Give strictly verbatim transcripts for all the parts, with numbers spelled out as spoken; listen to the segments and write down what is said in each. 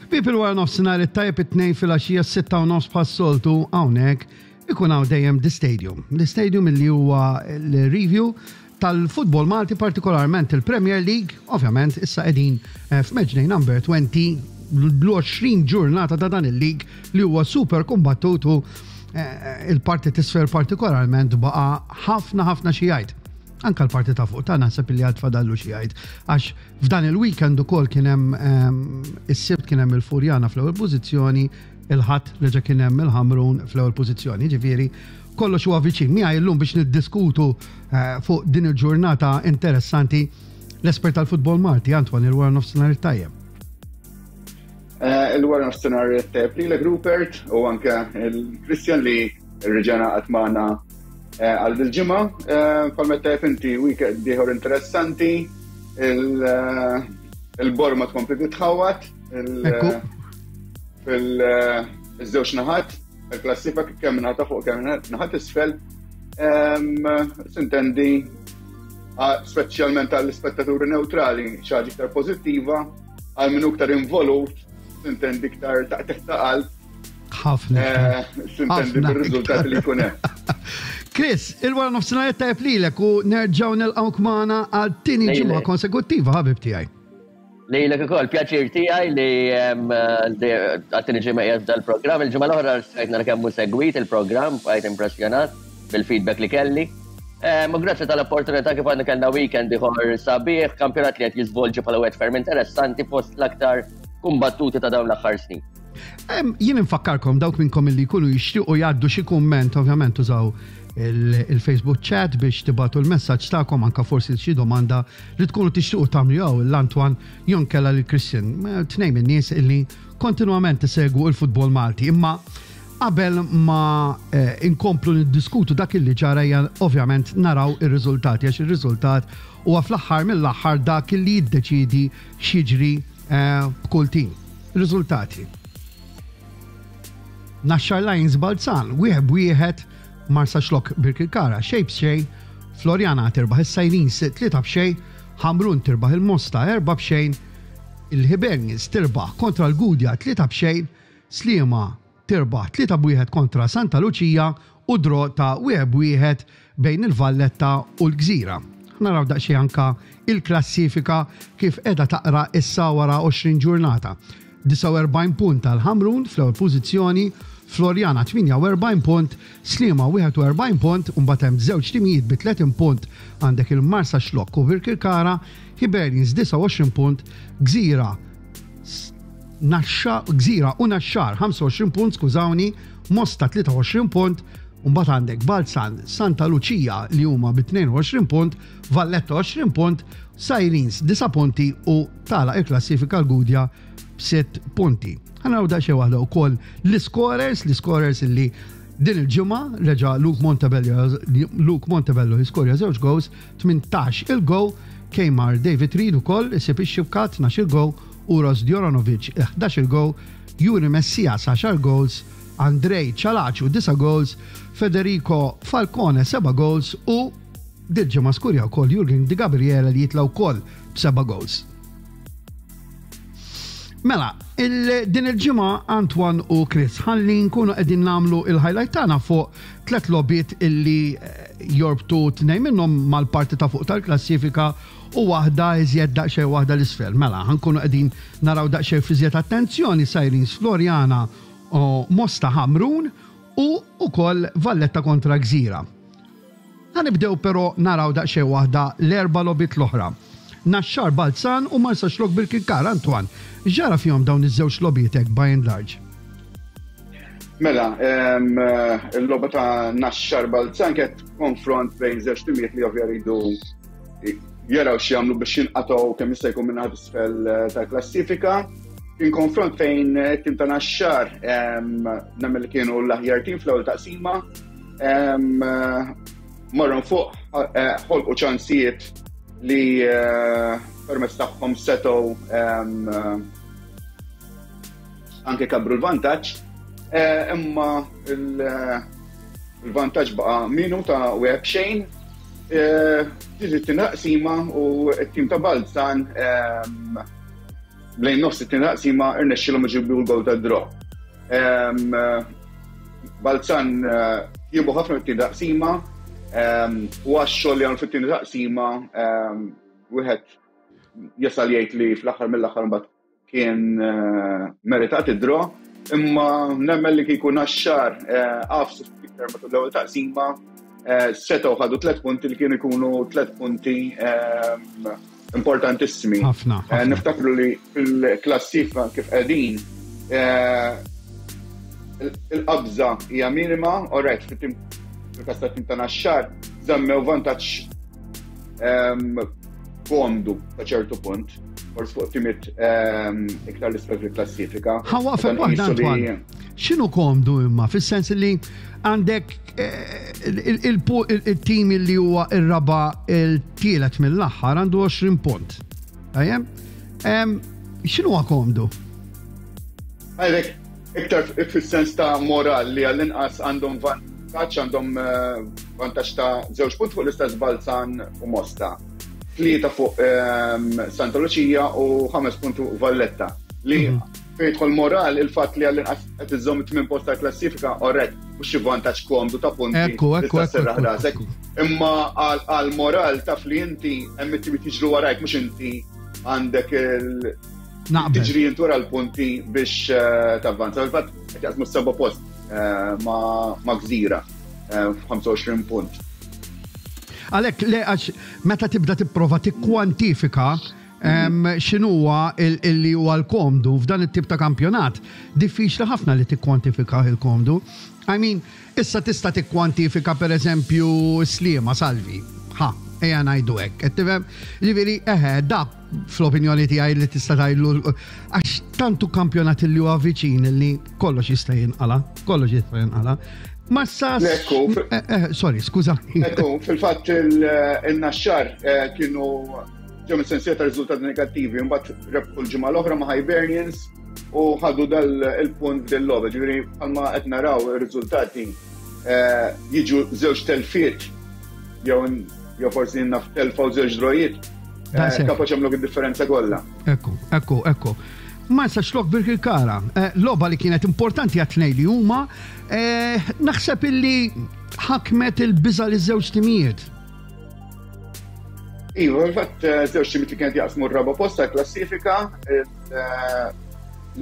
Ħbieb, il-wara nofsinhar it-tajjeb, it-Tnejn filgħaxija, sitta u nofs, bħas-soltu hawnhekk ikun hawn dejjem The Stadium. The Stadium illi huwa l-review tal-futbol Malti, partikolarment il-Premier League. Ovvjament issa qegħdin eh, f'matchday number twenty, l-għoxrin ġurnata ta' dan il-league li huwa super kombattutu. eh, il-parti t'isfel partikolarment baqa ħafna ħafna xi jgħid. Anka l-parti ta' fuq ta' naħseb li għad fadallu xi jgħid. Għax f'dan il-weekend ukoll kien hemm ehm, is-Sibt kien hemm il-Furjana fl-ewwel pożizzjoni, il-Ħadd reġa' kien hemm il-Ħamrun fl-ewwel pożizzjoni. Ġifieri kollox huwa viċin. Miegħi llum biex niddiskutu eh, fuq din il-ġurnata interessanti l-espert tal-futbol Malti, Antoine, il-wara nofsinhar tajjeb. Eh, il-wara nofsinhar tajjeb lilek, Rupert, u anke il-Christian li reġa' ngħaqad magħna eh, għal dil-ġimgħa. Bħalma tajjeb inti, weekend ieħor interessanti, il-borma tkompli titħawat fil-żewġ naħat, il-klassifika, kemm naħa fuq kemm naħa t'isfel. S'intendi, speċjalment għall-ispettaturi neutrali, xi ħaġa iktar pożittiva, għal min iktar involut, s'intendi, iktar taqtigħ ta' qalb. Ħafna. S'intendi bir-riżultat li jkun hemm. Chris, il-wara nofsinhar tajjeb lilek u nerġgħu nilqgħuk magħna għal tieni ġimgħa konsekuttiva, ħabib tiegħi. Lilek ukoll, pjaċir tiegħi li għat-tieni ġimgħa qiegħed dal-programm. Il-ġimgħa l-oħra stajt nara kemm segwit il-programm, bqajt impressjonat bil-feedback li kelli. U grazzi tal-opportunità. Kif għandna, kellna weekend ieħor sabiħ, kampjonat li qed jiżvolġi bħala wieħed ferm interessanti, fost l-aktar kumbattuti ta' dawn l-aħħar snin. Jien infakkarkom, dawk minnkom li jkunu jixtiequ jgħaddu xi kumment, ovvjament użaw il-Facebook chat biex tibagħtu l-messaġġ tagħkom, anka forsi xi domanda li tkunu tixtiequ tagħmlu jew lil Antoine jew inkella lil Christian. Tnejn min-nies illi kontinwament isegwu il-futbol Malti. Imma qabel ma eh, inkomplu niddiskutu dak illi ġara, ovvjament naraw ir-riżultati, għax ir-riżultat huwa fl-aħħar mill-aħħar dak illi jiddeċidi x'jiġri eh, b'kull tim. Riżultati. Naxxar Lions Balzan, wieħed b'wieħed, Marsaxlokk Birkirkara, xejn b'xejn, Floriana tirbaħ is-Sirens tlieta b'xejn, Ħamrun tirbaħ il-Mosta erba' b'xejn, il-Hibernians tirbaħ kontra l-Gudja tlieta b'xejn, Sliema tirbaħ tlieta b'wieħed kontra Santa Lucia u draw ta' wieħed b'wieħed bejn il-Valletta u l-Gżira. Naraw daqsxejn anka il-klassifika kif qiegħda taqra issa wara għoxrin ġurnata. disgħa u erbgħin punt għal Ħamrun fl-ewwel pożizzjoni, Floriana tmienja u erbgħin punt, Sliema wieħed u erbgħin punt, u mbagħad hemm żewġ timijiet bi tletin punt, għandek il-Marsaxlokk u Birkirkara, Hibernians disgħa u għoxrin punt, Gżira Naxxa, Gżira u Naxxar ħamsa u għoxrin punt, skużawni, Mosta tlieta u għoxrin punt, u mbagħad għandek Balzan, Santa Lucia li huma bi tnejn u għoxrin punt, Valletta għoxrin punt, Sirens disa' punti u tagħlaq il-klassifika l-Gudja b'sitt punti. Ħa naraw daqsxejn waħda wkoll l-scorers, l-scorers illi din il-ġimgħa reġa' Luke Montebello, Luke Montebello jiskorja żewġ goals, tmintax il-goal, Kemar David Reid ukoll isib ix-xibka, tnax il-goal, Uros Djoranovic ħdax il-goal, Juri Messias għaxar goals, Andrej Cialaciu disa' goals, Federico Falcone seba' goals u dil-ġimgħa skurja wkoll Jurgen Di Gabriele li jitla wkoll b'seba' goals. Mela, il din il-ġimgħa, Antoine u Chris, ħalli nkunu qegħdin nagħmlu il-highlight tagħna fuq tliet logħbiet illi eh, jorbtu tnejn minnhom mal-parti ta' fuq tal-klassifika u waħda iżjed daqsxejn waħda 'l isfel. Mela, ħa nkunu qegħdin naraw daqsxejn f'iżjed attenzjoni Sirens Floriana u Mosta Ħamrun u ukoll Valletta kontra Gżira. Ħa nibdew però naraw daqsxejn waħda l-erba' logħbiet l-oħra. Naxxar Balzan u Marsaxlokk Birkirkara. Antoine, ġara fihom dawn iż-żewġ logħbiet by and large? Mela, il-logħba ta' Naxxar Balzan kienet konfront bejn żewġ timijiet li ovvja jridu jaraw x'jagħmlu biex jinqatgħu kemm jista' jkun minn isfel eh, tal-klassifika. Kien konfront fejn it-tim ta' Naxxar nemmen li kienu l-aħjar tim fl-ewwel taqsima. Marru fuq, eh, ħolqu ċansijiet li eh, permezz tagħhom setgħu anke kabru l-vantaġġ. Eh, imma il-vantaġġ baqa' minu ta' wieħed b'xejn. Ġiet taqsima u t-tim ta' Balzan Lejn nofs it-tieni taqsima irnexxielhom iġibu l-gol ta' draw. Balzan jiebu ħafna fit-tieni taqsima u għax-xogħol li għamlu fit-tieni taqsima wieħed jasal jgħid li fl-aħħar mill-aħħar mbagħad kien meritat id-draw, imma nemmen li kieku Naxxar għafsu iktar matul l-ewwel taqsima setgħu ħadu tliet punti li kienu jkunu tliet punti importantissimi. Ħafna. Niftakru li fil-klassifika kif qegħdin il-qabża hija minima, alright, fil-każ tat-tim ta' Naxxar żammew vantaġġ komdu ta' ċertu punt, forsi fuq timiet iktar l-isfel fil-klassifika. Ħa waqfek waħda, Antoine. X'inhu komdu imma, fis-sens li għandek il-tim li huwa ir-raba' il-tielet mill-aħħar għandu għoxrin punt. Tajjeb? X'inhu huwa komdu? Għalhekk iktar fis-sens ta' moral li għall-inqas għandhom vantaġġ, għandhom vantaġġ ta' żewġ punt fuq l-istess Balzan u Mosta. Tlieta fuq Santa Lucia u ħames punti fuq Valletta. Li fejn jidħol moral il-fatt li għall-inqas qed iżżomm it-tmien post tal-klassifika, orrett, mhux xi vantaġġ komdu ta' punti. Ekku, ekku, tista' serraħ ekku, rasek. ekku. Imma għal moral taf li inti hemm it-timiet jiġru warajk, mhux inti għandek il- Naqbel. tiġri inti wara l-punti biex tavvanza. Fil-fatt qed jaqsmu s-seba' post ma' Gżira f'ħamsa u għoxrin punt. Għalhekk le, għax meta tibda tipprova tikkwantifika x'inhuwa illi huwa l-komdu f'dan it-tip ta' kampjonat, diffiċli ħafna li tikkwantifika il-komdu. I mean, issa tista' tikkwantifika per eżempju Sliema Salvi. Ha, ejja ngħidu hekk. Qed tifhem? Ġifieri, eħe, da fl-opinjoni tiegħi li tista' tgħidlu għax tantu kampjonat li huwa viċin li kollox jista' jinqala, kollox jista' jinqala. Ma sa Ekku, fil- eh, eh, sorry, skuża. Ekku, fil-fatt il-Naxxar kienu ġew mis-sensiela ta' riżultati negattivi, mbagħad rebħu l-ġimgħa l-oħra ma' Hibernians u ħadu dal il-punt del-logħba. Ġifieri bħalma qed naraw ir-riżultati jiġu żewġ telfiet jew jew forsi naf telfa u żewġ drojiet, Daqshekk. kapaċi jagħmlu id-differenza kollha. Ekku, ekku, ekku. Marsaxlokk Birkirkara, logħba li kienet importanti għat-tnejn li huma, naħseb illi ħakmet il-biża' li żewġ timijiet. Iva, fil-fatt żewġ timijiet li kienet jaqsmu r-raba' post tal-klassifika,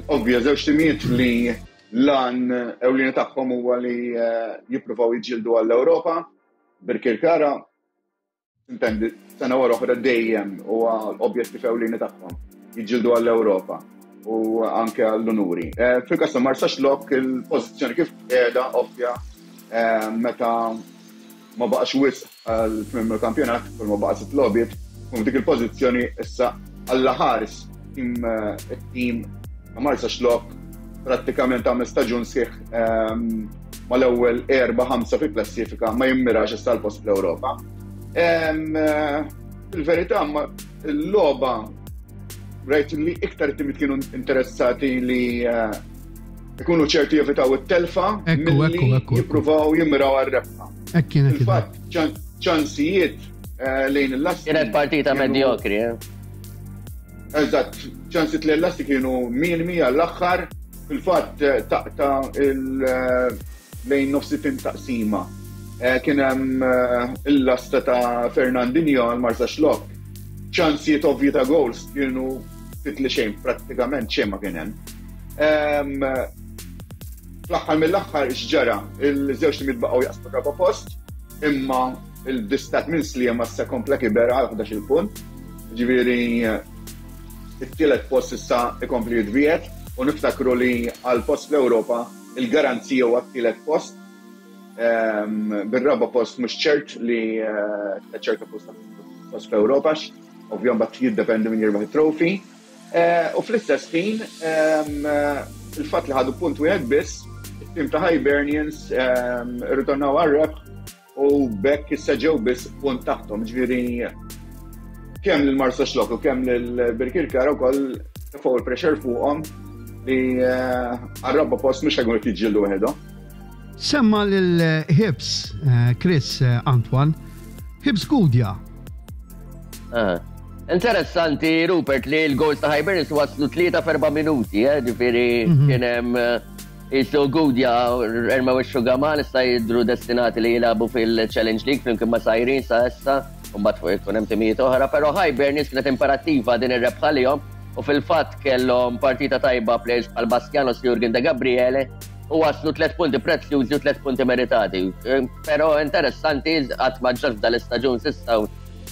ovvja żewġ timijiet li lan ewlieni tagħhom huwa li jippruvaw jiġġieldu għall-Ewropa. Birkirkara, intendi, sena wara oħra dejjem huwa l-objettiv ewlieni tagħhom, jiġġieldu għall-Ewropa u anke għall-unuri. Fil-każ ta' Marsaxlokk il-pożizzjoni kif qiegħda ovvja meta ma baqax wisq għal tmiem il-kampjonat, kull ma baqa' sitt logħbiet, u f'dik il-pożizzjoni issa għalla ħares tim it-tim ta' Marsaxlokk prattikament għamel staġun sħiħ mal-ewwel erba' ħamsa fil-klassifika ma jimmirax issa l-post fl-Ewropa. Fil-verità l-logħba rajt li iktar it-timiet kienu interessati li ikunu ċerti jevitaw it-telfa Ekku, milli ekku, ekku, ekku. jippruvaw jimmiraw għar-rebħa. Hekk kienet idea. Fil-fatt, ċansijiet lejn il-lasti Kienet partita kienu medjokri, eh? Eżatt, ċansijiet lejn il-lasti kienu minimi għall-aħħar, fil-fatt taqta il- lejn nofs it-tim taqsima. Kien hemm il-lasta ta' Fernandinho għal Marsaxlokk. Ċansijiet ovvji ta' goals kienu ftit li xejn, prattikament xejn ma kien hemm. Fl-aħħar mill-aħħar x'ġara, il-żewġ timiet baqgħu jaqsmu raba' post, imma il-distakk minn Sliema issa kompla kiber għal ħdax-il punt. Ġifieri it-tielet post issa ikompli jitbiegħed u niftakru li għal post fl-Ewropa il-garanzija huwa t-tielet post. Bir-raba' post mhux ċert li ċerta post post fl-Ewropa, ovvjament mbagħad jiddependi minn jirbaħ it-trofi. U fl-istess ħin il-fatt li ħadu punt wieħed biss, it-tim ta' Hibernians irritornaw għar-rebħ u bekk issa ġew biss punt taħtom, ġifieri kemm lil Marsaxlokk u kemm lil Birkirkara wkoll tefgħu il-pressure fuqhom li għar-raba' post mhux ħajkunu qed jiġġieldu waħedhom. Semma lil Hibs, Chris Antoine, Hibs Gudja. Ah. Interessanti, Rupert, li l-goals ta' Hibernians waslu tlieta f'erba' minuti, eh, ġifieri mhm. kien hemm Isu Gudja erma u Gamal issa jidru destinati li jilagħbu fil-Challenge League flimkien ma' Sajrin sa issa, u mbagħad fuq ikun hemm timijiet oħra, però Hibernians kienet imperattiva din ir-rebħa lihom u fil-fatt kellhom partita tajba players bħal Bastianos, Jurgen De Gabriele, u waslu tliet punti prezzjużi u tliet punti meritati. Però interessanti, qatt ma ġrat f'dal-istaġun s'issa u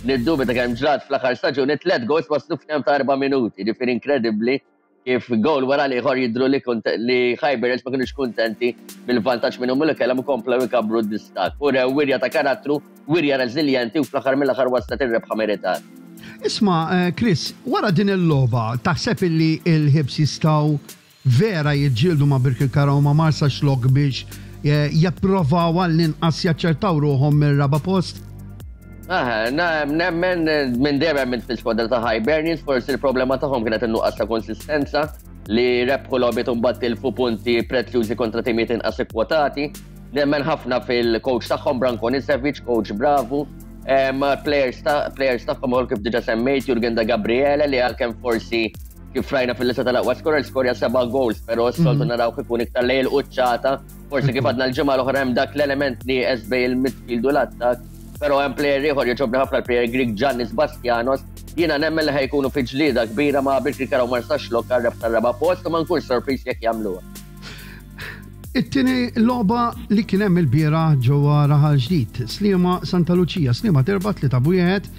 niddubita kemm ġrat fl-aħħar staġun, it-tliet goals waslu f'temp ta' erba' minuti, ġifieri inkredibbli kif goal wara l-ieħor jidhru li li Hibernians ma kinux kuntenti bil-vantaġġ minnhom li kellhom u komplew ikabbru d-distakk. U rew wirja ta' karattru, wirja reżiljenti u fl-aħħar mill-aħħar waslet ir-rebħa meritata. Isma', eh, Chris, wara din il-logħba taħseb illi il-Ħibs jistgħu vera jiġġieldu ma' Birkirkara u ma' Marsaxlokk biex eh, japprovaw għall-inqas jaċċertaw ruħhom mir-raba' post? Aha, nemmen minn dejjem minn fil-skwadra ta' Hibernians, forsi il-problema tagħhom kienet in-nuqqas ta' konsistenza li rebħu logħbiet u mbagħad tilfu punti prezzjużi kontra timijiet inqas ikkwotati. Nemmen ħafna fil-coach tagħhom Branko Nisevic, coach bravu. Players players tagħhom ukoll, kif diġà semmejt, Jurgen Da Gabriele, li għalkemm forsi kif rajna fil-lista tal-aqwa scorer skorja seba' goals, però s-soltu mhm. naraw ikun iktar lejl quċċata. Forsi kif għadna l-ġimgħa l-oħra, hemm dak l-element li bejn il-midfield u l-attak, però hemm player ieħor jogħġobni ħafna, l-player Greek Giannis Bastianos. Jiena nemmen li ħa jkunu fi ġlieda kbira ma' Birkirkara u Marsaxlokk għar-rebħ tar-raba' post u ma nkunx sorpriż jekk jagħmluha. It-tieni logħba li kien hemm il-bieraħ ġewwa Raħal Ġdid, Sliema Santa Lucia, Sliema terba' tlieta b'wieħed.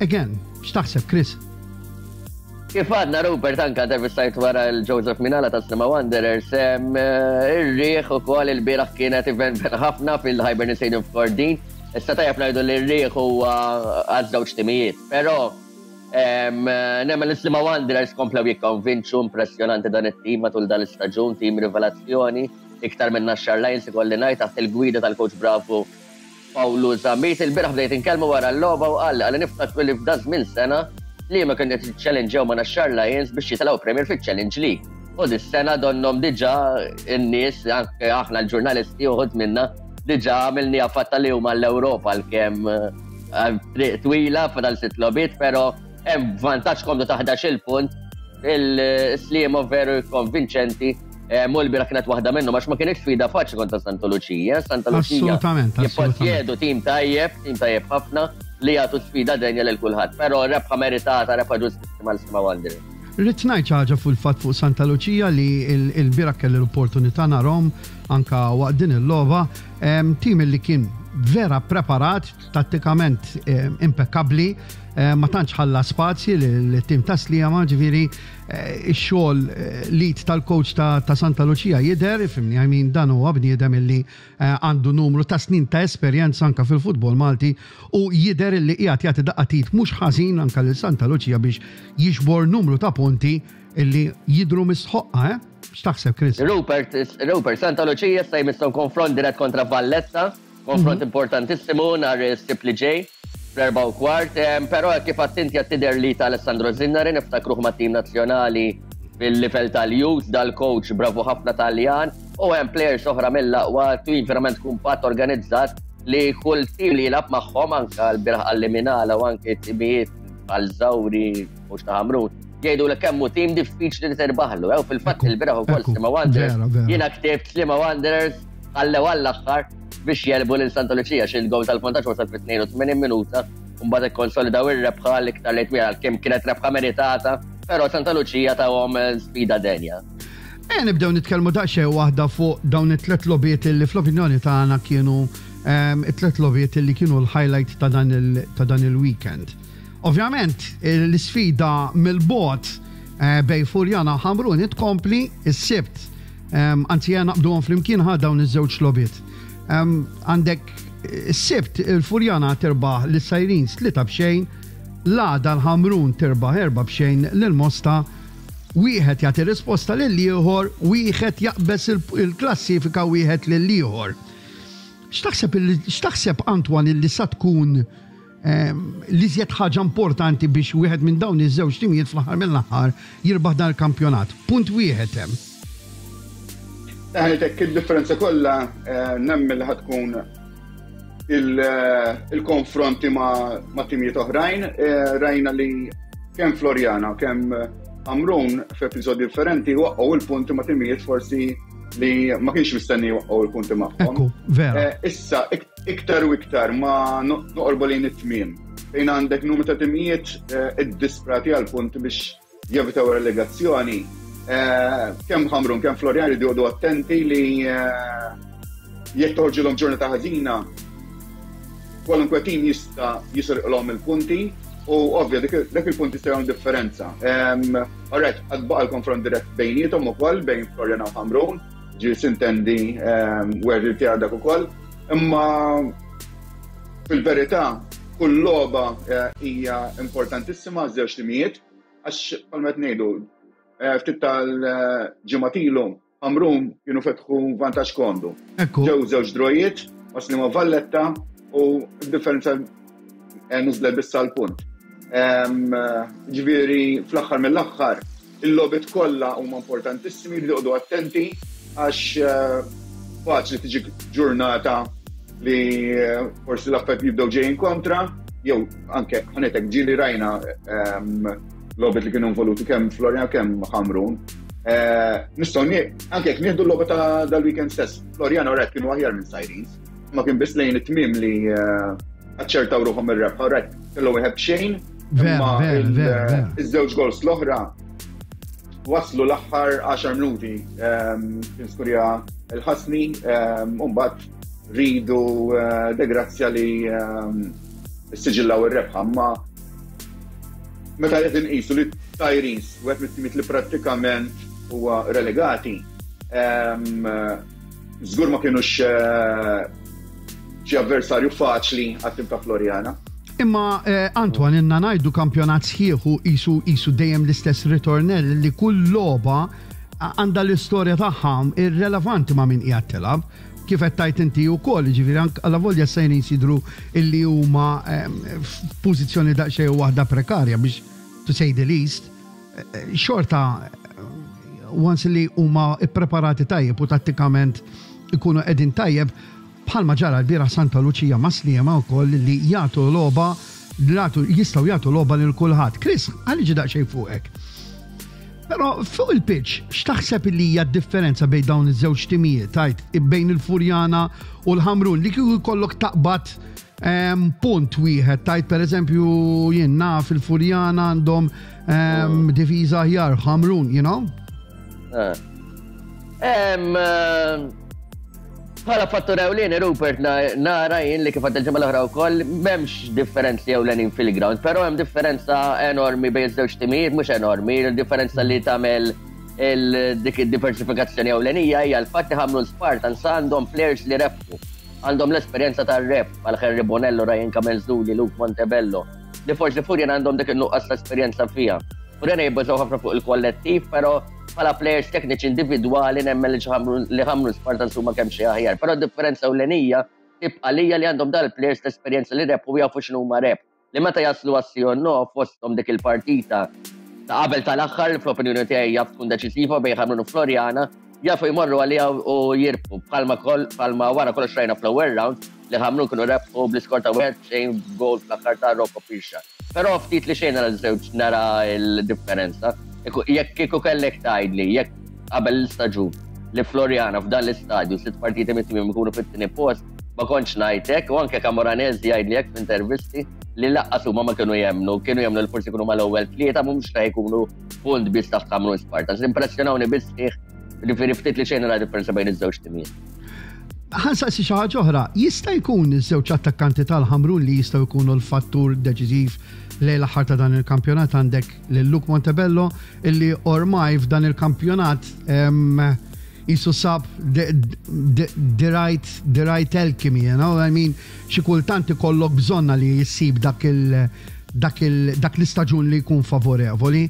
Again, x'taħseb, Chris? Kif għadna, Rupert, anka intervistajt wara l-Joseph Minala ta' Sliema Wanderers, eh, ir-riħ ukoll il-bieraħ kienet event ħafna fil-Hibernian Stadium f'Kordin. Issa tajjeb ngħidu li r-riħ huwa għaż-żewġ timijiet, però nemmen l-Sliema Wanderers komplew jikkonvinċu. Impressjonanti dan it-tim matul dan l-istaġun, tim rivelazzjoni, iktar minn Naxxar Lions ikolli ngħid, taħt il-gwida tal-coach bravu Paolo Zammit. Il-bieraħ bdejt inkellmu wara l-logħba u qal għalli niftakru li f'da żmien sena li ma kienet challenge ma' Naxxar Lions biex jitilgħu Premier fil-Challenge League. U dis-sena donnom diġà n-nies, anke aħna l-ġurnalisti uħud minna, diġà għamilni fatta li huma l-Ewropa, l-kem eh, triq twila, fadal sitt logħbiet, però hemm vantaġġ komdu ta' ħdax-il punt. Il-Sliema veru konvinċenti. Mu l-bieraħ kienet waħda minnu, għax ma kienx sfida faċli kontra Santa Lucia. Santa Lucia Assolutament, assolutament. jipposjedu tim tajjeb, tim tajjeb ħafna li jagħtu sfida denja lil kulħadd. Però rebħa meritata, rebħa ġustissima l-Sliema Wanderers. Rrid ngħid xi ħaġa fuq il-fatt fuq Santa Lucia li il-bieraħ kelli l-opportunità narahom anka waqt din il-logħba, em, tim li kien vera preparat, tattikament em, impeccabli, em, ma tantx ħalla spazji l-tim ta' Sliema, ġifieri eh, ix-xogħol eh, lead tal-coach ta' ta' Santa Lucia jidher, ifhimni, I mean, dan huwa bniedem illi eh, għandu numru ta' snin ta' esperjenza anka fil-futbol Malti u jidher illi qiegħed jagħti daqqa t'id mhux ħażin anka lil Santa Lucia biex jiġbor numru ta' punti illi jidru mistħoqqa, eh? X'taħseb, Chris? Rupert, Rupert, Santa Lucia issa jmisshom konfront dirett kontra Valletta, konfront importantissimu nhar is-Sibt li ġej, fl-erbgħa u kwart, em, però kif attenti tidher li ta' Alessandro Zinnari, niftakruh ma' tim nazzjonali fil-livell tal-youth, dal-coach bravu ħafna Taljan, u hemm players oħra mill-aqwa, tim verament kumpat, organizzat, li kull tim li jilgħab magħhom, anka l-bieraħ għall-Minala u anke timijiet għal Zawri mhux ta' Ħamrun, jgħidu li kemm hu tim diffiċli li terbaħlu. Ew fil-fatt Ekku, il-bieraħ ukoll ekku, Sliema Wanderers. vera, vera. Jiena ktibt Sliema Wanderers ħallew għall-aħħar biex jegħlbu lil Santa Lucia, xi l-gowl tal-vantaġġ wasal fit-tnejn u tmenin minuta u mbagħad ikkonsolidaw ir-rebħa l-iktar lejt wieħed, kemm kienet rebħa meritata, però Santa Lucia tawhom eh, sfida denja. E nibdew nitkellmu daqsxejn waħda fuq dawn it-tlet logħbiet illi fl-opinjoni tagħna kienu ehm, it-tlet logħbiet illi kienu l-highlight ta' dan il- ta' dan il-weekend. Ovvjament, l-isfida mill-bogħod eh, bejn Furjana Ħamrun tkompli is-Sibt. Ehm, Anzi, jena naqbduhom flimkien ħa dawn iż-żewġ logħbiet. Ehm, Għandek is-Sibt il-Furjana terbaħ lis-Sirens tlieta b'xejn, l-għada l-Ħamrun terbaħ erba' b'xejn lil Mosta, wieħed jagħti risposta lil ieħor, wieħed jaqbeż il- il-klassifika wieħed lil ieħor. X'taħseb illi- x'taħseb, Antoine, illi sa tkun ehm, l-iżjed ħaġa importanti biex wieħed minn dawn iż-żewġ timijiet fl-aħħar mill-aħħar jirbaħ dan il-kampjonat? Punt wieħed hemm. Ħanitek, il-differenza kollha eh, nemmen li ħa tkun il-konfronti ma' timijiet oħrajn. Rajna li kemm Floriana, kemm Ħamrun f'episodji differenti waqqgħu il-punti ma' timijiet forsi li ma kienx mistenni waqqgħu il-punti magħhom. Ekku, vera. Issa, iktar u iktar ma noqorbu lejn it-tmiem. Fejn għandek numru ta' timijiet iddisprati għal punti biex jevitaw relegazzjoni. Kemm Ħamrun, kemm Floriana jridu joqogħdu attenti li jekk toħorġilhom ġurnata ħażina, kwalunkwe tim jista' jisirqilhom il-punti u ovvja dak il-punt jista' jagħmel differenza. Alright, għad baqa' l-konfront dirett bejniethom ukoll bejn Floriana u Ħamrun, ġi sintendi where tiegħek dak ukoll, imma fil-verità kull logħba hija importantissima żewġ timijiet għax bħalma qed ngħidu ftit tal-ġimgħat ilu Ħamrun kienu fetħu vantaġġ komdu. Ġew żewġ drojiet, waslu ma' Valletta u d-differenza niżlet biss għal punt. Ġifieri fl-aħħar mill-aħħar il-logħbiet kollha huma importantissimi, jridu joqogħdu attenti għax faċli tiġi ġurnata li forsi l-affarijiet jibdew ġejjin kontra, jew anke ħanetek ġieli rajna logħbiet li kienu involuti kemm Floriana kemm Ħamrun. Nistgħu anke jekk nieħdu l-logħba ta' dal-weekend stess, Floriana rett kienu aħjar minn Sirens, ma kien biss lejn it-tmiem li aċċertaw ruħhom ir-rebħa, rett kellu wieħed b'xejn, imma iż-żewġ goals l-oħra waslu l-aħħar għaxar minuti kien skurja il-Ħasni, u mbagħad ridu De Grazia li siġillaw ir-rebħa, imma meta qed inqisu li Sirens wieħed mit-timiet li prattikament huwa relegati, żgur ma kienux xi avversarju faċli għat-tim ta' Floriana. Imma Antoine, inna ngħidu kampjonat sħiħu isu isu dejjem l-istess ritornell li kull logħba għandha l-istorja tagħha irrelevanti ma' min qiegħed tilgħab. Kif qed tajt inti wkoll, jiġifieri anke allavolja Sirens jidhru illi huma f'pożizzjoni daqsxejn waħda prekarja biex to say the least, xorta once li huma ippreparati tajjeb u tattikament ikunu qegħdin tajjeb, bħalma ġara l-bieraħ Santa Lucia ma' Sliema wkoll li jagħtu logħba, jistgħu jagħtu logħba lil kulħadd. Chris, għalli ġi daqsxejn fuqek. Però fuq il-pitch, x'taħseb li hija d-differenza bejn dawn iż-żewġ timijiet, tajt bejn il-Furjana u l-Ħamrun, li kieku jkollok taqbad punt wieħed, tajt pereżempju jien naf il-Furjana għandhom difiża aħjar, Ħamrun, you know? Bħala fattur ewlieni, Rupert, nara jien li kif għad il-ġimgħa l-oħra wkoll m'hemmx differenzi ewlenin fil-ground, però hemm differenza enormi bejn iż-żewġ timijiet, mhux enormi, il-differenza li tagħmel dik id-diversifikazzjoni ewlenija hija l-fatt li Ħamrun Spartans għandhom players li rebħu, għandhom l-esperjenza tar-rep bħal Henry Bonello, Ryan Camenzuli, Luke Montebello, li forsi Furjana għandhom dik in-nuqqas ta' esperjenza fiha. Furjana jibbażaw ħafna fuq il-kollettiv, però bħala players tekniċi individwali nemmen li Ħamrun Spartans huma kemm xi aħjar. Però d-differenza ewlenija tibqa' lija li għandhom dal-players ta' esperjenza li rebħu jafu x'inhu huma rep. Li meta jaslu għas-sì no fosthom dik il-partita ta' qabel tal-aħħar fl-opinjoni tiegħi jaf tkun deċisiva bejn Ħamrun u Floriana, jafu jmorru għalija u jirbħu bħalma koll, bħalma wara kollox rajna fl-ewwel round li Ħamrun kienu rebħu bl-iskor ta' wieħed xejn goal fl-aħħar ta' Rocco Pisha. Però ftit li xejn nara żewġ nara l-differenza. Jekk kieku kellek tgħidli, jekk qabel l-istaġun li Floriana f'dan l-istadju sitt partiti mit-tmiem ikunu fit-tieni post, ma kontx ngħidlek, u anke Camoranesi jgħidli hekk f'intervisti li laqqas huma ma kienu jemnu, kienu jemnu li forsi jkunu mal-ewwel tlieta mhux ta' jkunu punt biss taħt Ħamrun Spartans. Impressjonawni biss sħiħ, ġifieri ftit li xejn nara differenza bejn iż-żewġ timijiet. Ħansaqsi xi ħaġa oħra, jista' jkun iż-żewġ attakkanti tal-Ħamrun li jistgħu jkunu l-fattur deċiżiv lejn l-aħħar ta' dan il-kampjonat? Għandek lil Luke Montebello illi ormai f'dan il-kampjonat jisu sab the, the, the right, the right alchemy, you know? I mean, xi kultant ikollok bżonna li jissib dak il, dak il, dak l-istaġun li jkun favorevoli.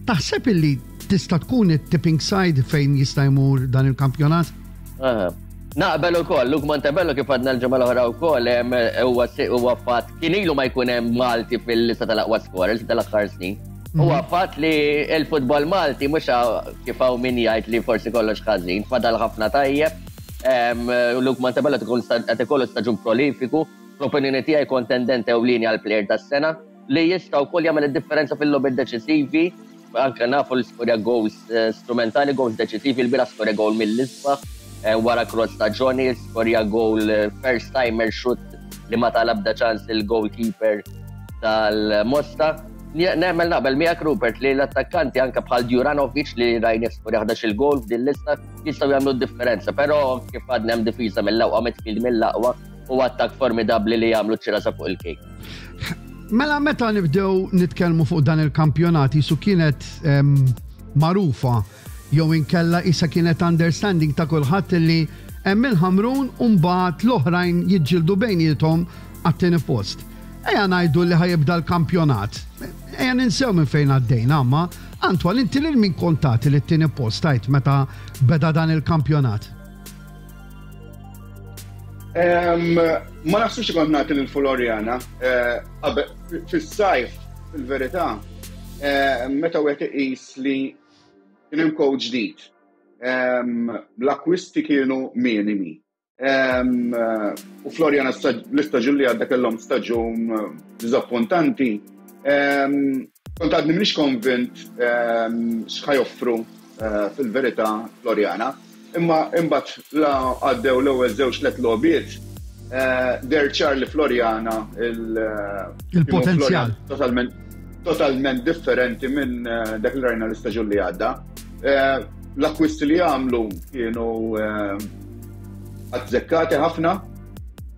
Taħseb illi tista' tkun it-tipping side fejn jista' jmur dan il-kampjonat? Aha. Naqbel ukoll, Luke Montebello kif għadna l-ġimgħa l-oħra wkoll, huwa huwa fatt kien ilu ma jkun hemm Malti fil-lista tal-aqwa scorers tal-aħħar snin. Huwa fatt li l-futbol Malti mhux kif hawn min jgħid li forsi kollox ħażin, fadal ħafna tajjeb. Luke Montebello qed ikollu staġun prolifiku. Fl-opinjoni tiegħi kontendent ewlieni għal player tas-sena li jista' wkoll jagħmel id-differenza fil-logħbiet deċisivi, anke nafu li skorja goals eh, strumentali, goals deċisivi, il-bieraħ skorja goal mill-isbaħ, eh, wara cross ta' Johnny, skorja goal eh, first timer shoot li ma ta l-ebda ċans il-goalkeeper tal-Mosta. Nemmen naqbel miegħek, Rupert, li l-attakkanti anke bħal Djuranovic li rajna skorja ħdax-il goal f'din lista jistgħu jagħmlu differenza, però kif għadna hemm difiża mill-aqwa, midfield mill-aqwa u attak formidabli li jagħmlu ċirasa fuq il-kejk. Mela meta nibdew nitkellmu fuq dan il-kampjonat jisu kienet em, magħrufa jew inkella issa kienet understanding ta' kulħadd li hemm il-Ħamrun u mbagħad l-oħrajn jiġġieldu bejniethom għat-tieni post. Ejja ngħidu li ħa jibda l-kampjonat. Ejja ninsew minn fejn għaddejna, amma Antoine, inti lil min kont tagħti li t-tieni post tajt meta beda dan il-kampjonat? Em, Ma naħsibx kont nagħti lil Floriana. eh, qabel- Fis-sajf, fil-verità, eh, meta wieħed iqis li kien hemm coach ġdid. Em, L-akkwisti kienu minimi. Em, eh, U Floriana stag- l-istaġun li għadda kellhom staġun eh, diżappuntanti. Em, Kont għadni m'iniex konvint em, x'ħa joffru eh, fil-verità Floriana. Imma imbagħad la għaddew l-ewwel żewġ tliet logħbiet, eh, deher ċar li Floriana il- eh, Il-potenzjal. Floriana Totalment totalment differenti minn eh, dak li rajna l-istaġun li għadda. Eh, L-akkwisti li għamlu kienu eh, azzekkati ħafna,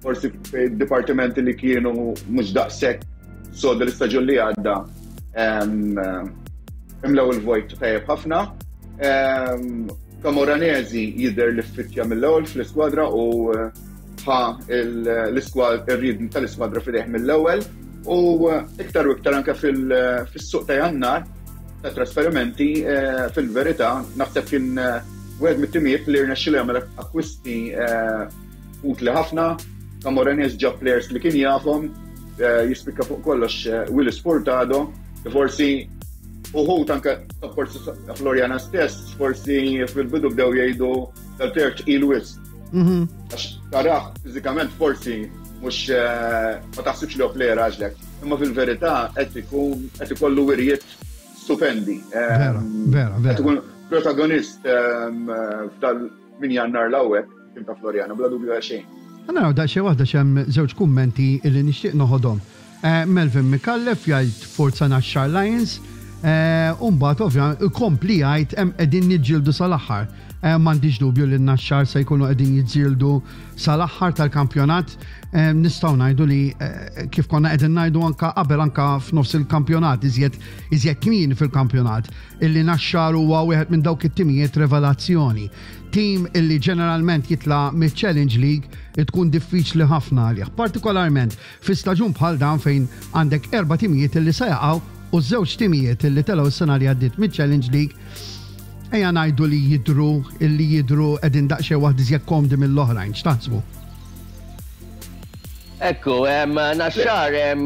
forsi dipartimenti li kienu mhux daqshekk sodi l-istaġun li għadda em, eh, imlew il-vojt tajjeb ħafna. Em, Camoranesi jidher li fittja mill-ewwel fl-iskwadra u eh, ħa l-iskwadra ir-ritmu tal-iskwadra f'idejh mill-ewwel u eh, iktar u iktar anke fil- fis-suq ta' Jannar ta' trasferimenti, eh, fil-verità naħseb kien eh, wieħed mit-timijiet li rnexxielu jagħmel akkwisti eh, utli ħafna. Camoranesi ġab players li kien jafhom, eh, jispikka fuq kollox eh, Willis Furtado, li forsi uħud anke forsi Floriana stess, forsi fil-bidu bdew jgħidu dal-player tqil wisq. Mhm. Għax tarah fiżikament forsi mhux eh, ma taħsibx li hu player għaġlek. Imma fil-verità qed ikun qed ikollu wirjiet stupendi. Vera, vera, vera. Qed ikun protagonist ehm, f'dal minn Jannar 'l hawnhekk tim ta' Floriana, bla dubju għal xejn. Għana da xi waħda xem żewġ kummenti illi nixtieq noħodhom. Eh, Melvin Mikallef jgħid "Forza Naxxar Lions", eh, u mbagħad ovvja ikompli jgħid "hemm qegħdin niġġieldu sal-aħħar". Eh, M'għandix dubju li n-Naxxar se jkunu qegħdin jiġġieldu sal-aħħar tal-kampjonat. Eh, Nistgħu ngħidu li eh, kif konna qegħdin ngħidu anka qabel, anka f'nofs il-kampjonat, iżjed iżjed kmieni fil-kampjonat, illi Naxxar huwa wieħed minn dawk it-timijiet revelazzjoni. Tim illi ġeneralment jitla mill-Challenge League tkun diffiċli ħafna għalih, partikolarment fi staġun bħal dan fejn għandek erba' timijiet illi se jaqgħu u żewġ timijiet illi telgħu s-sena li għaddiet mill-Challenge League ejja ngħidu li jidru illi jidru qegħdin daqsxejn waħd iżjed komdi mill-oħrajn. X'taħsbu? Ekku, em, Naxxar, em,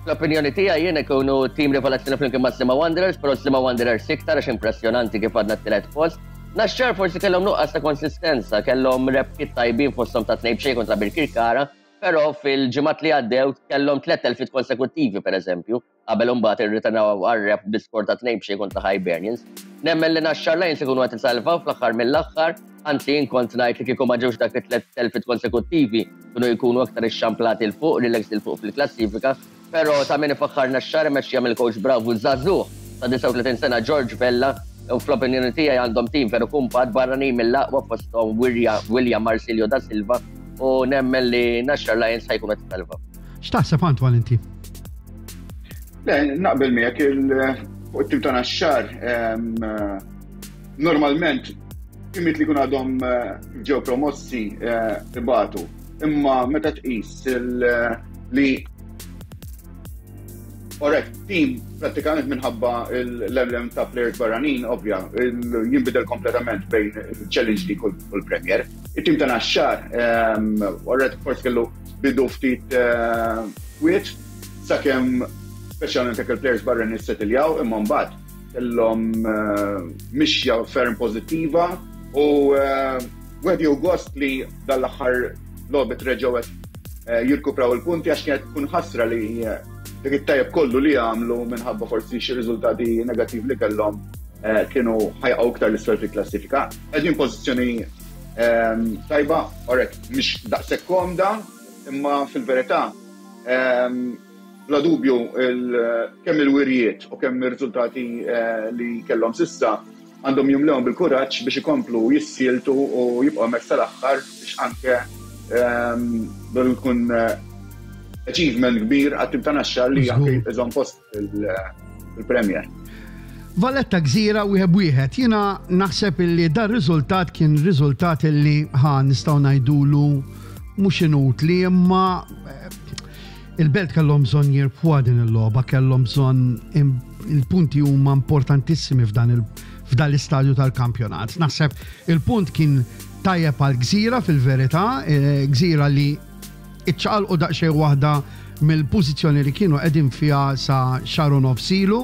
fl-opinjoni tiegħi jien ikunu tim rivelazzjoni flimkien ma' Sliema Wanderers, però Sliema Wanderers iktar għax impressjonanti kif għadna t-tielet post. Naxxar forsi kellhom nuqqas ta' konsistenza, kellhom rebħiet tajbin fosthom ta' tnejn b'xejn kontra Birkirkara, però fil-ġimgħat li għaddew kellhom tliet telfiet konsekuttivi, pereżempju, qabel imbagħad irritornaw għar-rebħ bi skor ta' tnejn b'xejn kontra Hibernians. Nemmen li Naxxar Lions ikunu qed isalvaw fl-aħħar mill-aħħar, anzi jien kont ngħid li kieku ma ġewx dak it-tliet telfiet konsekuttivi kienu jkunu aktar ixxamplati 'l fuq, relax 'il fuq fil-klassifika, però ta' min ifaħħar Naxxar imexxija mill-coach bravu żagħżugħ ta' disgħa u tletin sena George Vella, u fl-opinjoni tiegħi għandhom tim veru kumpat, barranin mill-aqwa fosthom William Marsilio da Silva, u nemmen li Naxxar Lions ħa jkunu qed isalvaw. X'taħseb, Antoine, inti? Le, naqbel miegħek il fuq it-tim ta' Naxxar, em, normalment timiet li kun għadhom eh, ġew promossi eh, ibatu. Imma meta tqis il- li Alright, team prattikament minħabba l-element ta' players barranin, ovvja, il- jinbidel kompletament bejn il-Challenge League u l-Premier. Il-team ta' Naxxar, alright, forsi kellu bidu ftit eh, kwiet, sakemm speċjalment jekk il-players barranin settiljaw, imma mbagħad kellhom eh, mixja ferm pożittiva u eh, wieħed jieħu gost li dal-aħħar logħbiet reġgħu qed jirkupraw il-punti għax kienet tkun ħasra li dik it-tajjeb kollu li għamlu minħabba forsi xi riżultati negattivi li kellhom kienu ħa jaqgħu iktar 'l isfel fil-klassifika. Qegħdin pożizzjoni tajba, orek, mhix daqshekk komda, imma fil-verità bla dubju kemm il-wirjiet u kemm ir-riżultati li kellhom s'issa għandhom jimlewhom bil-kuraġġ biex ikomplu jissieltu u jibqgħu hemmhekk sal-aħħar biex anke jkun achievement kbir għat-tim ta' Naxxar li anke iżomm post il-Premier. Valletta Gżira wieħed wieħed. Jiena naħseb illi dar riżultat kien riżultat illi ħa nistgħu ngħidulu mhux inutli, imma il-Belt kellhom bżonn jirbħu din il-logħba, kellhom bżonn il-punti huma importantissimi f'dan f'dan l-istadju tal-kampjonat. Naħseb il-punt kien tajjeb għal Gżira fil-verità, Gżira li iċċaqalqu daqsxejn waħda mill-pożizzjoni li kienu qegħdin fiha sa xahar u nofs ilu,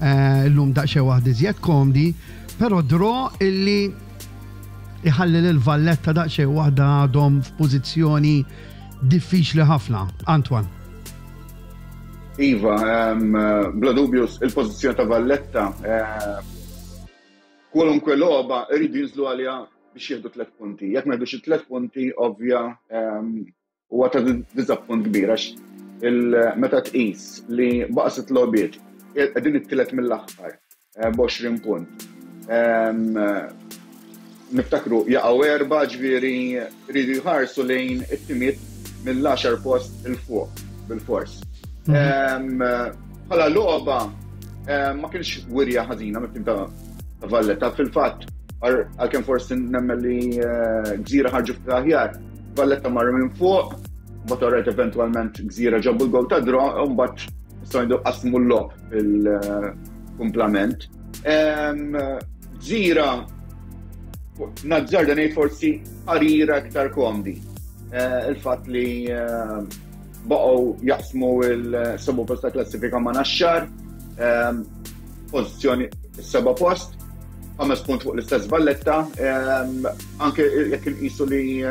illum daqsxejn waħda iżjed komdi, però draw illi iħalli lil Valletta daqsxejn waħda għadhom f'pożizzjoni diffiċli ħafna. Antoine. Iva, bla dubju il-pożizzjoni ta' Valletta kwalunkwe logħba iridu jinżlu għaliha biex jieħdu tliet punti. Jekk ma jieħdux it-tliet punti, ovvja huwa ta' diżappunt kbir għax meta tqis li baqa' sitt logħbiet qegħdin it-tielet mill-aħħar b'għoxrin punt. Niftakru jaqgħu erba', ġifieri jridu jħarsu lejn it-timiet mill-għaxar post 'il fuq bil-fors. Bħala logħba ma kienx wirja ħażina mit-tim ta' Valletta. Fil-fatt, għalkemm forsi nemmen li Gżira ħarġu ftit aħjar, Valletta marru minn fuq, mbagħad orajt eventwalment Gżira ġabu l-gowl ta' draw, u mbagħad nistgħu ngħidu qasmu l-logħob fil-kumplament. Gżira nazzarda ngħid forsi ħarira iktar komdi. Il-fatt li baqgħu jaqsmu il-seba' post ta' klassifika ma' Naxxar, pożizzjoni s-seba' post, ħames punt fuq l-istess Valletta, anke jekk inqisu li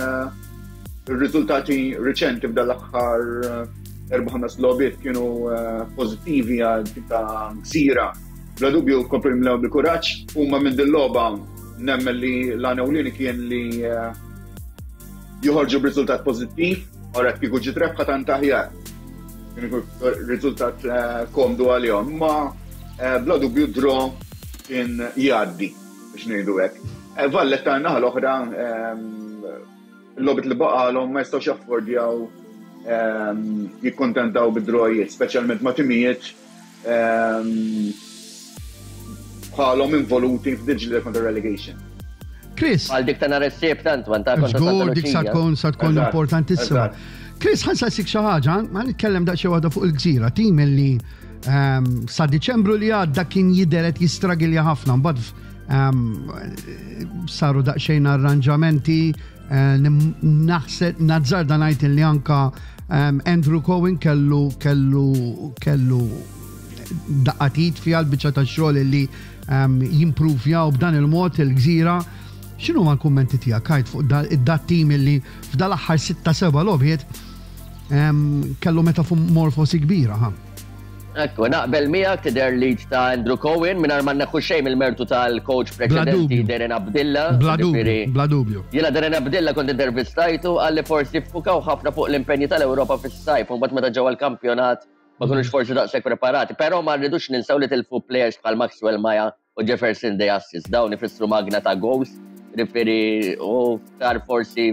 r-riżultati riċenti f'dan l-aħħar erba' ħames logħbiet kienu pożittivi għal tim ta' Gżira. Bla dubju komplu jimlew bil-kuraġġ, huma minn din logħba nemmen li l-għan ewlieni kien li joħorġu b'riżultat pożittiv, ora kieku ġiet rebħa tant aħjar. Kien ikun riżultat komdu għalihom, imma bla dubju draw kien jgħaddi biex ngħidu hekk. Valletta naħa l-oħra l-logħbiet li baqalhom ma jistgħux jaffordjaw jikkontentaw bid-drawijiet, speċjalment ma' timijiet bħalhom involuti f'diġli kontra relegation. Chris. Għal dik ta' nhar is-Sibt, Antoine, ta' kontra Santa Żgur, dik sa Lucia. tkun sa tkun Eżatt, importantissima. eżatt. Chris, ħa nsaqsik xi ħaġa, ma nitkellem daqsxejn waħda fuq il-Gżira, tim illi ehm, sa Diċembru li għadda kien jidher qed jistragilja ħafna, mbagħad ehm, saru daqsxejn arranġamenti, eh, nim- naħseb nazzarda ngħid li anka ehm, Andrew Cohen kellu kellu kellu daqqatit fiha l-biċċa ta' xogħol li ehm, jimpruvjaw b'dan il-mod il-Gżira. X'inhu ma l-kummenti tiegħek għid fuq da- id-dat tim illi f'dal-aħħar sitta seba' logħbiet ehm, kellu metamorfosi kbira, ha? Ekku, naqbel miegħek, tidher lead ta' Andrew Cohen mingħajr ma neħu xejn mill-mertu tal-coach preċedenti dubju. Darren Abdilla. Bla dubju, Ġifieri, bla dubju. Jiena Darren Abdilla kont intervistajtu, għalli forsi ffukaw ħafna fuq l-impenji tal-Ewropa fis-sajf, u mbagħad meta ġew għall-kampjonat ma kinux forsi daqshekk preparati, però ma rridux ninsew li tilfu players bħal Maxwell Maja u Jefferson De Assis, dawn ifissru magna ta' goals, ġifieri u tar forsi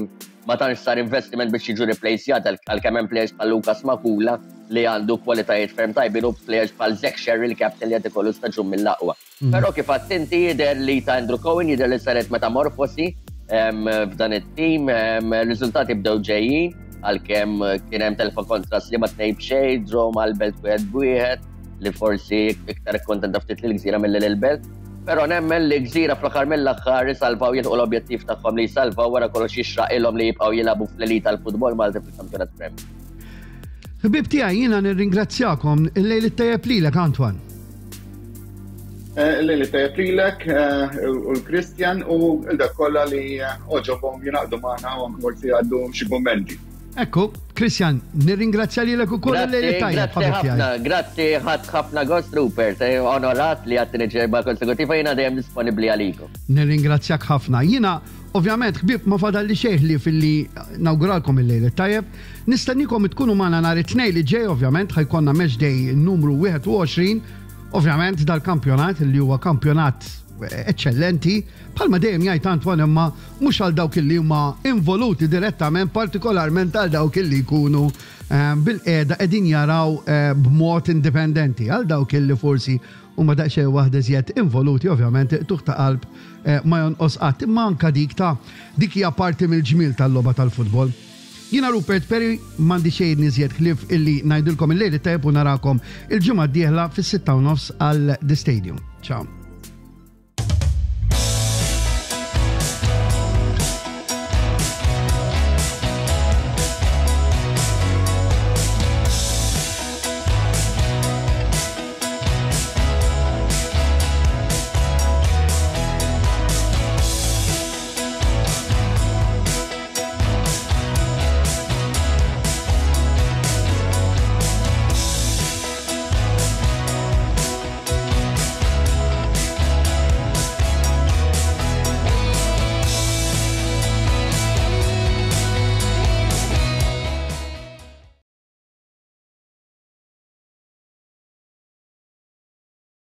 ma tantx sar investiment biex jiġu replacejat għalkemm hemm players bħal Lucas Makula li għandu kwalitajiet ferm tajbin u players bħal Zach Sherry, il-captain, li qed ikollu staġun mill-aqwa. Però kif attenti jidher li ta' Andrew Cohen jidher li saret metamorfosi em, f'dan it-tim, em, riżultati bdew ġejjin għalkemm kien hemm telfa kontra Sliema tnejn b'xejn, draw mal-Belt wieħed b'wieħed li forsi iktar kontenta ftit lil Gżira milli lil Belt. Però nemmen li Gżira fl-aħħar mill-aħħar jisalvaw, jilħqu l-objettiv tagħhom li jsalvaw. Wara kollox jixraq ilhom li jibqgħu jilagħbu fl-elita tal-futbol Malti fil-kampjonat Premier. Ħbieb tiegħi, jiena nirringrazzjakom, il-lejl it-tajjeb lilek, Antoine. Eh, il-lejl it-tajjeb lilek eh, u l-Kristjan u l-dak kollha li għoġobhom jingħaqdu magħna u anke forsi għaddu xi kummenti. Ekku, Christian, nirringrazzja lilek ukoll, il-lejl tajjeb. Grazzi ħafna, grazzi, ħadt ħafna gost, Rupert, eh, onorat li għat-tieni ġimgħa konsekutiva jiena dejjem disponibbli għalikom. Nirringrazzjak ħafna. Jiena, ovvjament, ħbieb, ma fadalli xejn ħlief illi nawguralkom il-lejl tajjeb. Nistennikom tkunu magħna nhar it-Tnejn li ġej, ovvjament, ħa jkollna match day numru wieħed u għoxrin, ovvjament dal-kampjonat li huwa kampjonat eccellenti, bħalma dejjem jgħid Antoine, imma mhux għal dawk li huma involuti direttament, partikolarment għal dawk li jkunu eh, bil-qiegħda qegħdin jaraw eh, b'mod indipendenti, għal dawk li forsi huma daqsxejn waħda żjed involuti, ovvjament tuħ ta' qalb eh, ma jonqos qatt, imma anka dik ta' dik hija parti mill-ġmil tal-logħba tal-futbol. Jiena Rupert Perry, m'għandi xejn iżjed ħlief illi ngħidilkom il-lejl tajjeb u narakom il-ġimgħa d-dieħla fis-sitta u nofs għal The Stadium. Ciao.